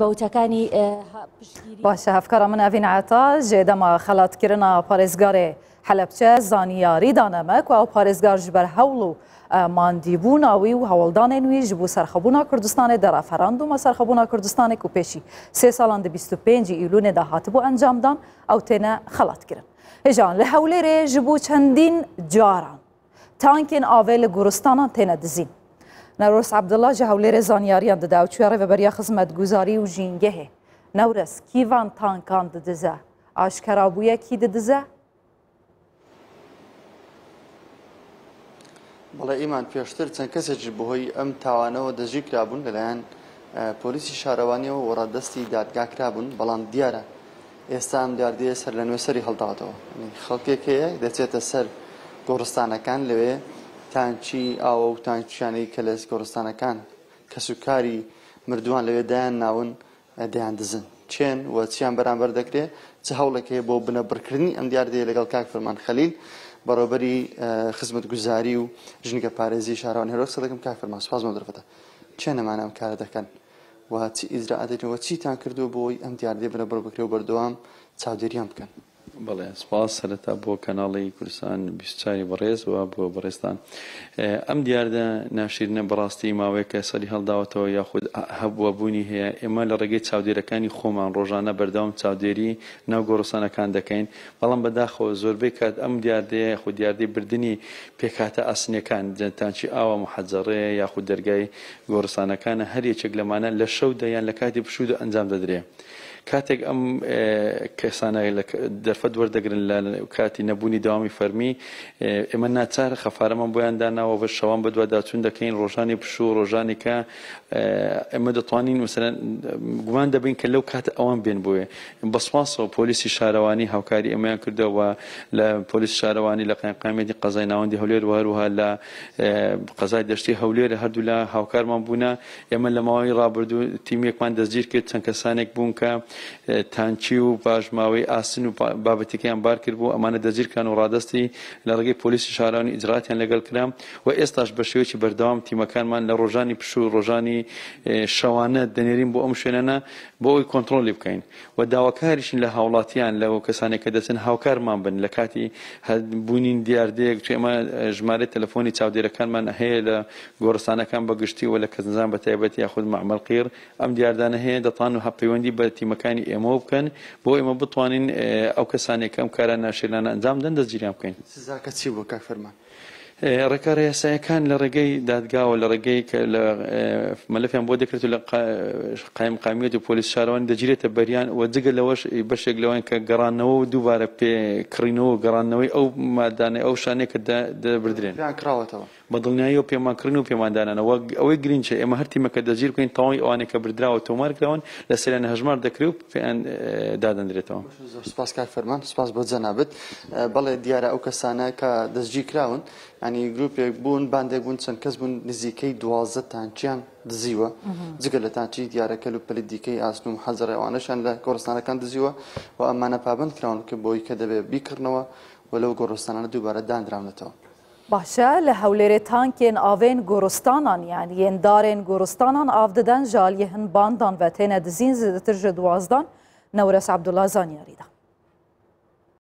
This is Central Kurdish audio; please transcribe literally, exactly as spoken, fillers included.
بەوتەکانی باشە هەفکارە من ئەڤین عەتا ji dema xelatkirina parêzgarê Helebçe zanyarî dane me ku ew parêzgar ji ber hewl û mandîbûna wî û hewldanên wî ji bo serxwebûna Kurdistanê de referandûma serxwebûna Kurdistanê ku pêşî sê salan di bîst û pênc Îlûnê de hatibû encamdan ew têne xelatkirin. Hêjan li Hewlêrê ji bo çendîn caran tankên avê li goristanan têne dizîn. Newres Abdullah ji Hewlêrê zanyariyan dide ew çûye rêveberiya xizmetguzarî û jîngehê. Newres kî van tankan didize? Aşkera bûye kî didize? بەڵێ ئیمان پێشتر چەند کەسێکی بەهۆی ئەم تاوانەوە دەستگیر کرابوون لەلایەن پۆلیسی شارەوانیەوە و ڕادەستی دادگا کرابوون، بەڵام دیارە ئێستا ئەم دیاردەیە سەر لە نوێ سەری هەڵداوەتەوە. خەڵکێک هەیە دەچێتە سەر گۆڕستانەکان، لەوێ تانکی ئاوە و تانکیانەی کە لە گۆڕستانەکان کەسوکاری مردووان لەوێ دایان ناون دەیان دزن. چێن و چیان بەرامبەر دەکرێت، چ هەوڵێک هەیە بۆ بنەبڕکردنی ئەم دیاردەیە لەگەڵ کاک فەرمان خەلیل بەڕێوەبەری خزمەتگوزاری و ژینگە پارێزی شارەوانی هەولێر قسە دەکەم. کاک فەرمان سوپاس بۆ دەرفەتە. چێن ئەمانە ئەم کارە دەکەن و چی ئیجرائاتێک و چیتان کردووە بۆی ئەم دیاردەیە بنەبڕ بکرێ و بەردەوام چاودێریان بکەن؟ بەڵێ سپاس سەرەتا بۆ کەناڵی کوردستان بیست و چواری بەڕێز و بۆ بەڕێزتان. ئەم دیاردە ناشیرنە بەڕاستی ماوەیەکە سەری هەڵداوەتەوە یاخود هەبووە بوونی هەیە. ئێمە لە ڕێگەی چاودێرەکانی خۆمان ڕۆژانە بەردەوام چاودێری ناو گۆڕستانەکان دەکەین، بەڵام بەداخەوە زۆربەی کات ئەم دیاردەیە یاخود دیاردەی بردنی پێکهاتە ئاسنیەکان، تانکی ئاوە محەجەڕێ یاخود دەرگای گۆڕستانەکانە، هەر یەکێک لەمانە لە شەودا یان لە کاتی پشوودا ئەنجام دەدرێ. کاتێک ئەم کەسانە دەرفەت وەردەگرن لە کاتی نەبوونی داوامی فەرمی، ئێمە ناچار خەفارەمان بۆیان داناوە بە شەوان بەدواداچوون دەکەین، ڕۆژانی پشوو، ڕۆژانی کە ئێمە دەتوانین مثلەن گومان دەبین کە لەو کاتە ئەوان بێن بۆیە. بە سوپاسەوە پۆلیسی شارەوانی هاوکاری ئێمەیان کردەوە لە پۆلیسی شارەوانی لە قایمقامیەتی قەزای ناوەندی هەولێر و هەروەها لە قەزای دەشتی هەولێر هەردوولا هاوکارمان بوونە. ئێمە لە ماوەی ڕابردوو تیمێکمان دەستگیر کرد، چەند کەسانێک بوون کە تانکی و پاشماوەی ئاسن و بابەتەکەیان بار کرد بوو، ئەمانە دەستگیرکران و ڕادەستی لە ڕێگەی پۆلیسی شارەوانی ئیجراتیان لەگەڵ کرا و ئێستاش بە شێوەیەکی بەردەوام تیمەکانمان لە ڕۆژانی پشوو ڕۆژانی شەوانە دەنێرین بۆ ئەم شوێنانە بۆ ئەوەی کۆنترۆڵی بکەین و داواکاریشین لە هاوڵاتیان لەو کەسانێک کە دەچن هاوکارمان بن لە کاتی بوونین دیاردەیەک. چون ئێمە ژمارەی تەلەفۆنی چاودێرەکانمان هەیە لە گۆڕستانەکان بەگشتی و لە کەسنزان بە تایبەت یاخود مەعمەل قیر ئەم دیاردانە هەیە، دەتوانن و پەیوەندی بە تیمەکانی ئێمەوە بکەن بۆ ئێمە بتوانین ئەو کەسانێک کە ئەم کارە ناشیرنانە ئەنجام دەن دەستگیریان بکەین. سزاکە چی بوو کاک فەرمان؟ ڕێکارە یاسایەکان لە ڕێگەی دادگاوە لە ڕێگەی کە لە مەلەفیان بۆ دەکرێت و لە قایمقامیەت و پۆلیس شارەوانی دەگیرێتە بەریان و جگە لەوەش بەشێک لەوەن کە گەڕانەوە و دووبارە پێکڕینەوە و گەڕانەوەی ئەو مادانەی ئەو شانەیە کە دەبردرێن پێیان کراوەتەوە. بە دڵنیاییەوە پێمانکردن و پێماندانانەوە. ئەوەی گرنگە ئێمە هەر تیمەکە دەستگیر بکەین تەواوی ئەوانەی کە بردراوە تۆمار کراون لەسەریان هەژمار دەکرێت و پێیان دادەندرێتەوە. زۆر سپاس کاک فەرمان، سپاس بۆ جەنابت. بەڵێ دیارە ئەو کەسانە کە دەستگیر کراون ینی گروپێک بوون، باندێک بوون، چەند کەس بوون، نزیکەی دوازدە تانکیان دزیوە، جگە لە تانکی دیارە کەل و پەلی دیکەی ئاسن و محەجەڕێ ئەوانەشیان لە گۆڕستانەکان دزیوە و ئەمانە پابەند کراون کە بۆی کە دەبێت بیکڕنەوە و لەو گۆڕستانانە دووبارە دانراونەتەوە. باشە لە هەولێرێ تانکێن ئاوێن گۆڕستانان یان yên darên goristanan av didin ji aliyê hin bandan ve têne dizîn zêdetir ji duwazdan. Newres Abdullah zanyarî da.